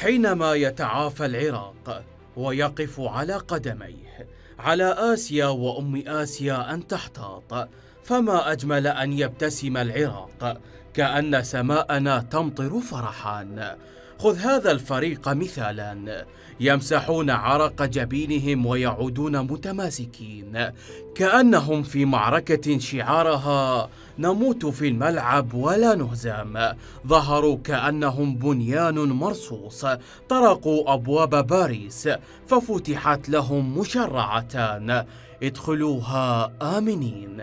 حينما يتعافى العراق ويقف على قدميه على آسيا وأم آسيا أن تحتاط، فما أجمل أن يبتسم العراق كأن سماءنا تمطر فرحا. خذ هذا الفريق مثالا، يمسحون عرق جبينهم ويعودون متماسكين كأنهم في معركة شعارها نموت في الملعب ولا نهزم. ظهروا كأنهم بنيان مرصوص، طرقوا أبواب باريس ففتحت لهم مشرعتان، ادخلوها آمنين.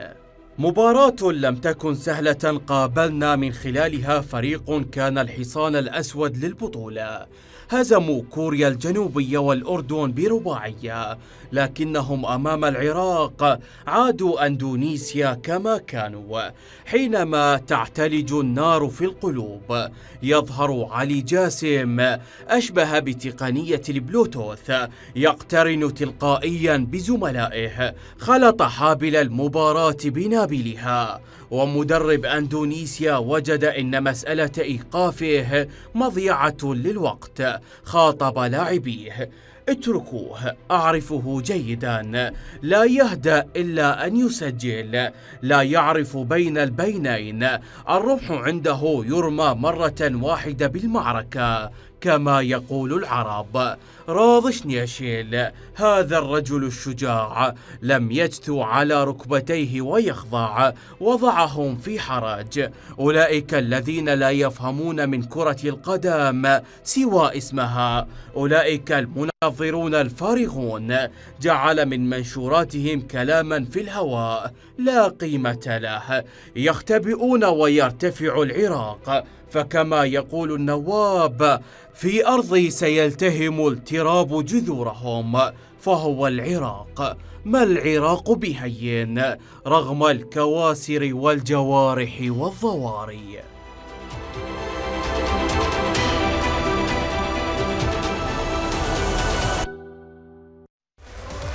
مباراة لم تكن سهلة، قابلنا من خلالها فريق كان الحصان الأسود للبطولة. هزموا كوريا الجنوبية والأردن برباعية، لكنهم أمام العراق عادوا أندونيسيا كما كانوا. حينما تعتلج النار في القلوب يظهر علي جاسم أشبه بتقنية البلوتوث، يقترن تلقائيا بزملائه، خلط حابل المباراة بنابلها. ومدرب أندونيسيا وجد أن مسألة إيقافه مضيعة للوقت، خاطب لاعبيه: اتركوه، أعرفه جيدا، لا يهدأ إلا أن يسجل، لا يعرف بين البينين، الرمح عنده يرمى مرة واحدة بالمعركة كما يقول العرب. راض شنيشيل هذا الرجل الشجاع لم يجثو على ركبتيه ويخضع، وضعهم في حرج. أولئك الذين لا يفهمون من كرة القدم سوى اسمها، أولئك المنظرون الفارغون، جعل من منشوراتهم كلاما في الهواء لا قيمة له. يختبئون ويرتفع العراق، فكما يقول النواب: في أرضي سيلتهم التراب جذورهم، فهو العراق. ما العراق بهين رغم الكواسر والجوارح والضواري.